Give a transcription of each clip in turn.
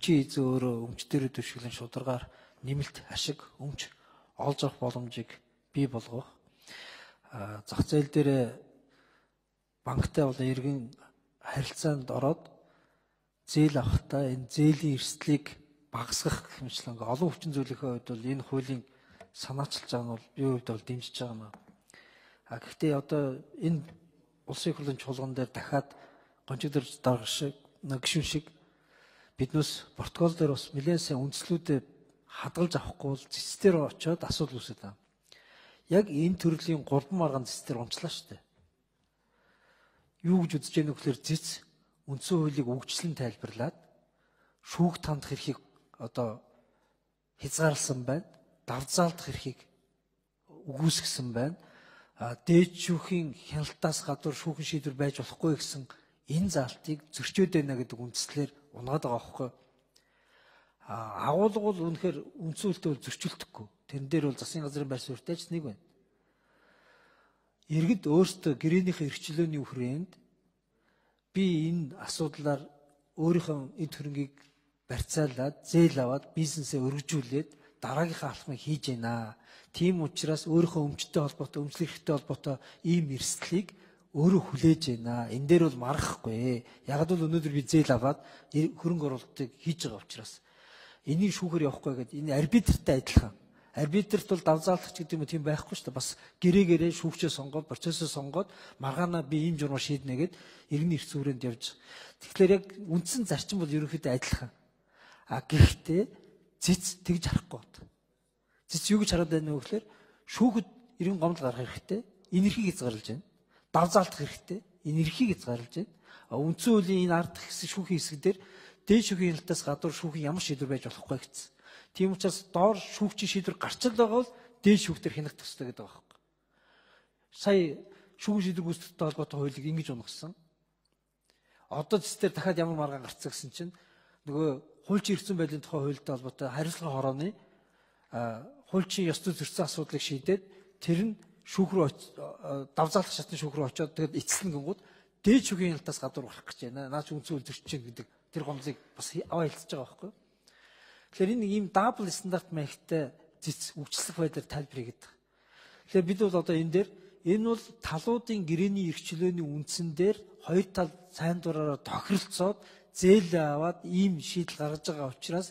эмчийн эзэн өөрөө өмчтөрөө төшөглөн шударгаар нэмэлт ашиг өмч олж авах боломжийг бий болгох. Зах зээл дээр банктай бол иргэн харилцаанд ороод зээл авахдаа энэ зээлийн эрсдлийг багасгах гэх мэтлэн олон хүчин зүйлийнхээ хувьд бол энэ хуулийн санаачилж байгаа нь бол бие хувьд бол дэмжиж байгаа юм. Гэхдээ одоо энэ улсын хурлын чуулган дээр дахиад гончигдорж дарах шиг гишүүн шиг биднээс протокол дээр бас нэлээд сайн үндслүүдэд хадгалж авахгүй бол зэцтэр очиод асуудал үүсэж байна. Яг энэ төрлийн 3 маргаан зэцтэр унчлаа шүү дээ. Юу гэж үзэж яах вэ гэхээр зэц үндсэн хуулийг өгчлэн тайлбарлаад шүүх тандах эрхийг одоо хязгаарласан байна. Давзаалдах эрхийг үгүйсгэсэн байна. Дээд шүүхийн хяналтаас гадуур шүүхэн шийдвэр байж болохгүй гэсэн энэ заалтыг зөрчөөд байна гэдэг үндслээр унгаад байгаа байхгүй. Агуулга бол үнэхээр үндсэн хуулитай бол зөрчилдөхгүй. Тэрэн дээр бол засгийн газрын байр суурьтай ч нэг байна. Иргэд өөрсдөө гэрээнийхээ эрхчлөөний хүрээнд би энэ асуудлаар өөрийнхөө эд хөрөнгийг барьцаалаад зээл аваад бизнесээ өргөжүүлээд дараагийнхаа алхмыг хийж байна. Тийм учраас өөрийнхөө өмчтэй холбоотой, өмчлөх эрхтэй холбоотой ийм эрсдлийг өөрөө хүлээж байна. Энэ дээр бол марахгүй. Яг л өнөөдөр би зээл аваад хөрөнгө оруулалтыг хийж байгаа учраас энийг шүүхээр явахгүй гэдэг энэ арбитртай адилхан. Арбитрт бол давзаалах гэдэг юм тийм байхгүй шүү дээ. Бас гэрээгээрээ шүүгчээ сонгоод, процессыг сонгоод маргаанаа би ийм журмаар шийднэ гэд иргэний эрх зүйрэнд явж. Тэгэхээр яг үндсэн зарчим бол ерөнхийдөө адилхан. Гэхдээ зэц тэгж харахгүй байна. Зэц юу гэж хараад байна вэ гэхээр шүүхэд иргэн гомдол гаргах хэрэгтэй. Энэ эрхийг хязгаарлаж байна. Давзаалдах хэрэгтэй. Энэ эрхийг хязгаарлаж байна. Үндсэн хуулийн энэ ард хэсэг шүүхийн хэсэг дээр дээд шүүхийн хяналтаас гадуур шүүхийн ямар шийдвэр байж болохгүй гэсэн. Тийм учраас доор шүүгчийн шийдвэр гарч л байгаа бол дээд шүүхтэр хянах төстэй гэдэг байгаа юм. Сая шүүгэн шийдвэр гүйцэтгэхтэй холбоотой хуулийг ингэж унгасан. Одоо зэстээр дахиад ямар маргаан гарцсан гэсэн чинь нөгөө хуульчийн эрх зүйн байдлын тухай хуультай холбоотой хариуцлагын хорооны хуульчийн ёс зүй зөрчсөн асуудлыг шийдээд тэр нь шүүх рүү давзаалах шатны шүүх рүү очиод тэгээд эцэслэн гингууд дээд шүүхийн хяналтаас гадуур гарах гэж байна. Наач үндсэн хууль зөрчиж чинь гэдэг тэр гомдлыг бас аваа хэлцэж байгаа байхгүй юу? Тэгэхээр энэ ийм дабл стандарт маягтай зэц үгчлэх байдлаар тайлбар хийгээд байгаа. Тэгэхээр бид бол одоо энэ дээр энэ бол талуудын гэрээний эрхчлөөний үндсэн дээр хоёр тал сайн дураараа тохиролцоод зээл аваад ийм шийдэл гаргаж байгаа учраас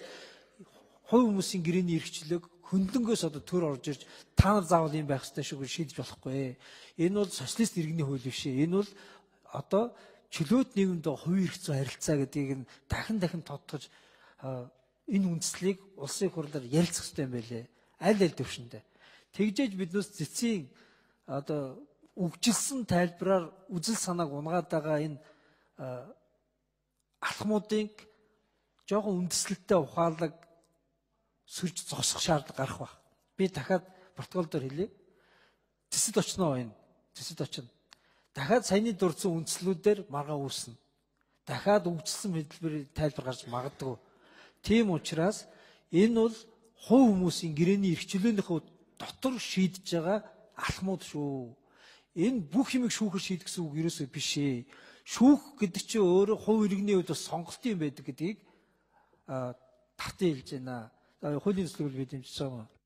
хувь хүмүүсийн гэрээний эрхчлөөг хөндлөнгөөс одоо төр орж ирж та нар заавал юм байх ёстой шүү гэж шийдэж болохгүй. Энэ бол социалист иргэний хууль биш. Энэ бол одоо чөлөөт нийгэмд хувийн эрх зүйн харилцаа гэдгийг нь дахин тодтогч энэ үндслийг улсын хурлаар ярилцах хэрэгтэй юм байлээ. Аль төвшөндөө. Тэгжээж биднээс зэцийн одоо үгжилсэн тайлбараар үзэл санааг унгаад байгаа энэ алхмуудыг жоохон үндэслэлтэй ухаалаг сүрж зогсох шаардлага гарах баг. Би дахиад протокол дээр хэлье. Зэцэд очно энэ. Зэцэд очно. Дахиад саяны дурдсан үндслүүдээр маргаан үүснэ. Дахиад үгжилсэн хэлбэрийн тайлбар гарч магадгүй. Тийм учраас энэ бол хувь хүмүүсийн гэрээний эрхчлөөнийхөө дотор шийдэж байгаа алхмууд шүү. Энэ бүх юмыг шүүхэр шийдэх гэсэн үг ерөөсөө биш ээ. Шүүх гэдэг чинь өөрөө хувь иргэний хувьд бас сонголт юм байдаг гэдгийг татан хэлж байна. Хуулийн төслийг бид дэмжиж байгаа юм.